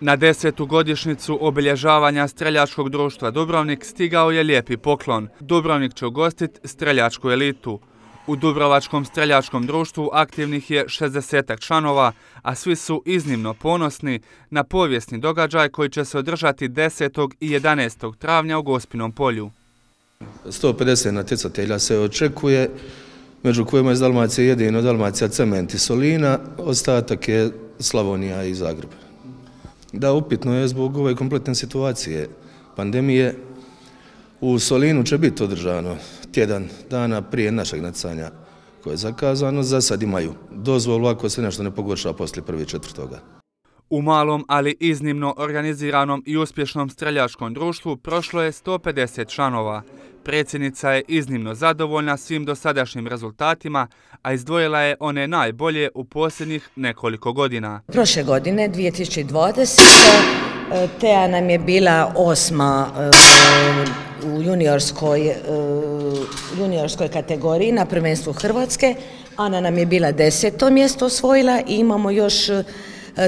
Na 10. godišnjicu obilježavanja Streljačkog društva Dubrovnik stigao je lijepi poklon. Dubrovnik će ugostiti streljačku elitu. U Dubrovačkom streljačkom društvu aktivnih je 60 članova, a svi su iznimno ponosni na povijesni događaj koji će se održati 10. i 11. travnja u Gospinom polju. 150 natjecatelja se očekuje, među kojima je iz Dalmacije jedino Dalmacija Cement i Solina, ostatak je Slavonija i Zagreb. Da, upitno je zbog ove kompletne situacije pandemije. U Solinu će biti održano tjedan dana prije našeg natjecanja koje je zakazano. Za sad imaju dozvolu ako se nešto ne pogorša poslije 1.4. U malom, ali iznimno organiziranom i uspješnom streljačkom društvu prošlo je 150 članova. Predsjednica je iznimno zadovoljna svim dosadašnjim rezultatima, a izdvojila je one najbolje u posljednjih nekoliko godina. Prošle godine, 2020. Teja nam je bila 8. u juniorskoj kategoriji na prvenstvu Hrvatske. Ana nam je bila 10. mjesto osvojila i imamo još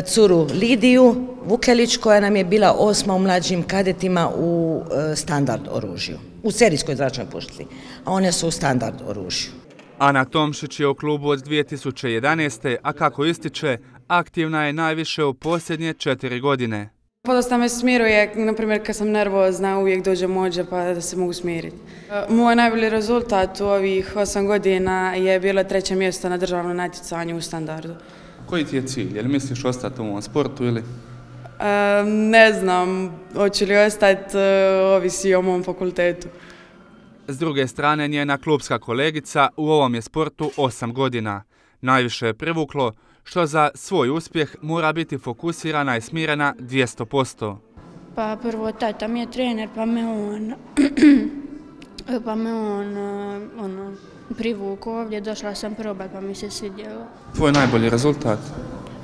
curu Lidiju Vukelić koja nam je bila 8. u mlađim kadetima u standard oružju, u serijskoj zračnoj pušci, a one su u standard oružju. Ana Tomšić je u klubu od 2011. a kako ističe, aktivna je najviše u posljednje 4 godine. Podosta me smiruje, na primjer kad sam nervozna uvijek dođe mođa pa da se mogu smiriti. Moj najbolji rezultat u ovih 8 godina je bilo 3. mjesto na državnom natjecanju u standardu. Koji ti je cilj? Je li misliš ostati u ovom sportu ili? Ne znam, hoću li ostati, ovisi o mom fakultetu. S druge strane, njena klubska kolegica u ovom je sportu 8 godina. Najviše je privuklo što za svoj uspjeh mora biti fokusirana i smirena 200%. Pa prvo tata mi je trener, pa me on privukao ovdje, došla sam probati pa mi se svidjelo. Tvoj najbolji rezultat?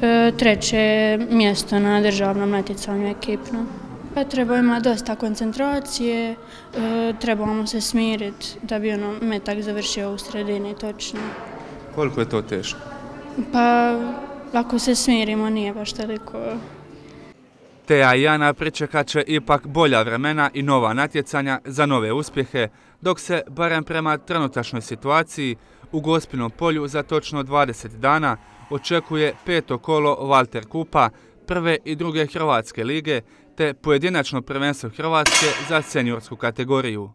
3. mjesto na državnom natjecanju ekipno. Pa treba imati dosta koncentracije, trebamo se smiriti da bi metak završio u sredini točno. Koliko je to teško? Pa ako se smirimo nije baš toliko. Teja i Ana pričekat će ipak bolja vremena i nova natjecanja za nove uspjehe, dok se, barem prema trenutačnoj situaciji, u Gospinom polju za točno 20 dana očekuje 5. kolo Valter Kupa, 1. i 2. Hrvatske lige, te pojedinačno prvenstvo Hrvatske za seniorsku kategoriju.